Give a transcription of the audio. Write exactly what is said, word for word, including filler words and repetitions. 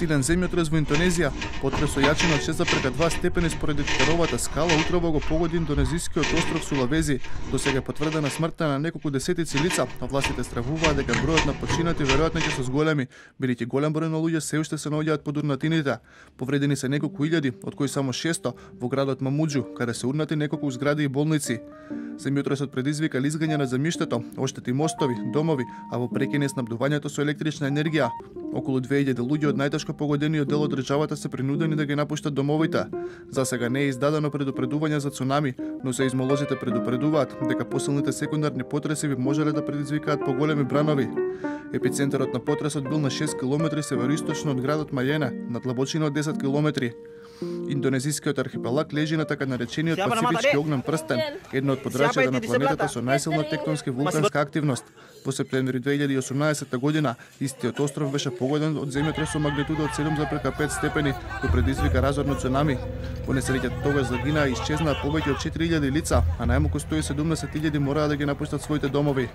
Силен земјотрес во Индонезија, потрес со јачина од шест зарез два степени според Итаровата скала утрово го погоди индонезискиот остров Сулавези. Досега е потврдена смртта на неколку десетици лица, а властите стравуваат дека бројот на починати веројатно ќе се зголеми, бидејќи голем број на луѓе се уште се наоѓаат под урнатините. Повредени се неколку илјади, од кои само шесто во градот Мамуџу, каде се урнати неколку згради и болници. Земјотресот предизвика лизгање на земјиштето, оштети мостови, домови, а во прекине снабдувањето со електрична енергија. Околу две илјади луѓе од најтешко погодениот дел од државата се принудени да ги напуштат домовите. За сега не е издадено предупредување за цунами, но сеизмолозите предупредуваат дека посилните секундарни потреси би можеле да предизвикаат поголеми бранови. Епицентарот на потресот бил на шест километри североисточно од градот Мајене, на длабочина од десет километри. Индонезискиот архипелаг лежи на така наречениот Пацифички огнен прстен, едно од подрачјата на планетата со најсилна тектонски вулканска активност. Во септември две илјади и осумнаесетта година, истиот остров беше погоден од земјотрес со магнитуда од седум зарез пет степени, кој предизвика разорно цунами. Во несреќата тогаш загинаа и исчезнаа повеќе од четири илјади лица, а најмалку сто и седумдесет илјади мораа да ги напуштат своите домови.